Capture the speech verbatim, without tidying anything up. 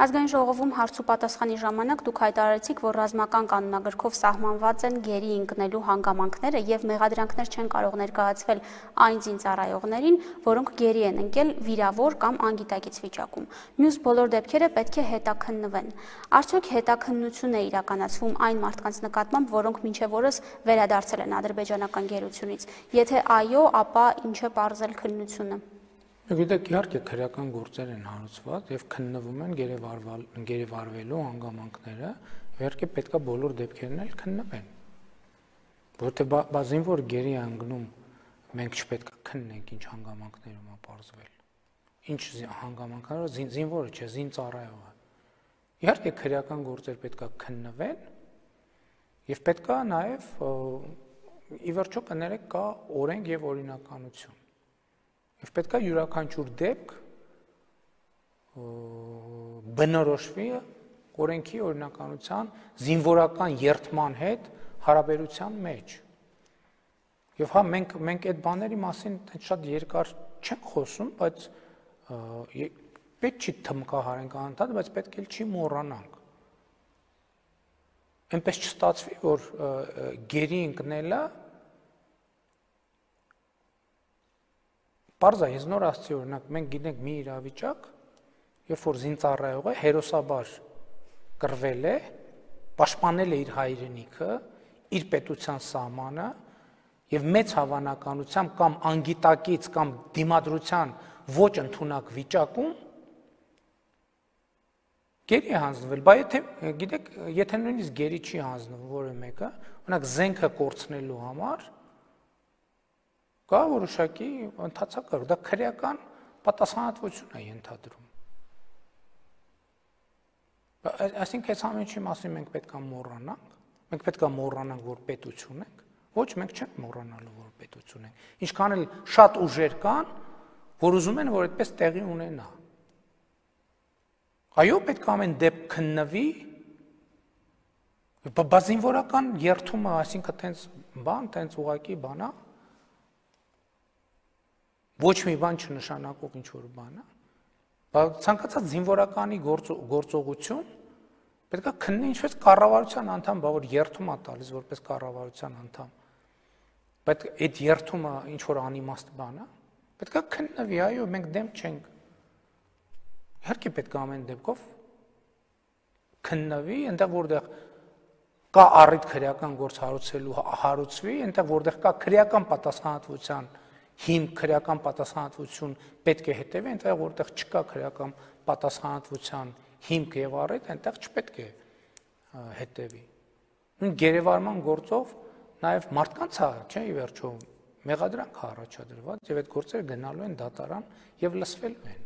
Ազգային ժողովում հարց ու պատասխանի ժամանակ դուք հայտարարեցիք, որ ռազմական կանոնագրքով սահմանված են գերի ընկնելու հանգամանքները եւ մեղադրանքներ չեն կարող ներկայացվել այն զինծառայողներին, որոնք գերի են ընկել վիրավոր կամ անգիտակից վիճակում։ Մյուս բոլոր դեպքերը պետք է հետաքննվեն։ Արդյոք հետաքննություն է իրականացվում այն մարդկանց նկատմամբ, որոնք մինչև օրս վերադարձել են ադրբեջանական գերությունից։ Եթե այո, ապա ինչ է պարզել քննությունը։ Գիտեք, իհարկե քրեական գործեր են հարուցված եւ քննվում են գերեվարվելու հանգամանքները, իհարկե պետքա բոլոր դեպքերն էլ քննվեն։ Որտեղ բազին որ գերի անգնում, մենք չպետք է քննենք ինչ հանգամանքներում է պարզվել։ Ինչ հանգամանքներով զինվորը չէ, զինծառայողը։ Իհարկե քրեական գործեր պետքա քննվեն եւ պետքա նաեւ ի վերջո կներեք կա օրենք եւ օրինականություն։ Եվ պետք է յուրաքանչյուր դեպք բնորոշվի օրենքի օրինականության զինվորական երթման հետ հարաբերության մեջ։ Եվ հա մենք մենք այդ բաների մասին շատ երկար չենք խոսում, բայց պետք չի թմկահարենք անընդհատ, բայց պետք էլ չի մոռանանք։ Այնպես չստացվի, որ գերի ընկնելը Պարզ է, ես նոր ասացի, օրինակ, մենք գիտենք մի իրավիճակ, երբ որ զինծառայողը հերոսաբար կռվել է, պաշտպանել է իր հայրենիքը, իր պետության սահմանը եւ մեծ հավանականությամբ կամ անգիտակից կամ դիմադրության ոչ ընդունակ վիճակում գերի է հանձնվել, բայց եթե գիտեք, եթե նույնիսկ գերի չի հանձնվում որևէ մեկը, օրինակ զենքը կորցնելու համար կա որոշակի ընթացակարգ, դա քրեական պատասխանատվություն է ենթադրում։ Այսինքն այս ամենի մասին մենք պետք է մոռանանք, մենք պետք է մոռանանք, որ պետություն ենք, ոչ մենք չենք մոռանալու, որ պետություն ենք։ Ինչքան էլ շատ ուժեր կան, որ ուզում են, որ այդպես տեղի ունենա։ Այո, պետք է ամեն դեպք քննվի, բազինվորական երթումը, այսինքն տենց բան, տենց ուղղակի բան է, ոչ մի բան չնշանակող ինչ-որ բան է, բայց ցանկացած զինվորականի գործողություն պետք է քննի ինչպես կառավարության անդամ, բա որ երթում է տալիս որպես կառավարության անդամ, բայց այդ երթումը ինչ-որ անիմաստ բան է, պետք է քննվի, այո, մենք դեմ չենք, իհարկե պետք է ամեն դեպքով քննվի, այնտեղ որտեղ կա առիթ քրեական գործ հարուցելու հարուցվի, այնտեղ որտեղ կա քրեական պատասխանատվության հիմք քրեական պատասխանատվություն պետք է հետևի, այնտեղ որտեղ չկա քրեական պատասխանատվության հիմք եւ առիթ, այնտեղ չպետք է հետևի։ Նույն գերեվարման գործով նաեւ մարդկանց է, չէ՞, ի վերջո մեղադրանք է առաջադրված եւ այդ գործերը գնալու են դատարան եւ լսվելու են։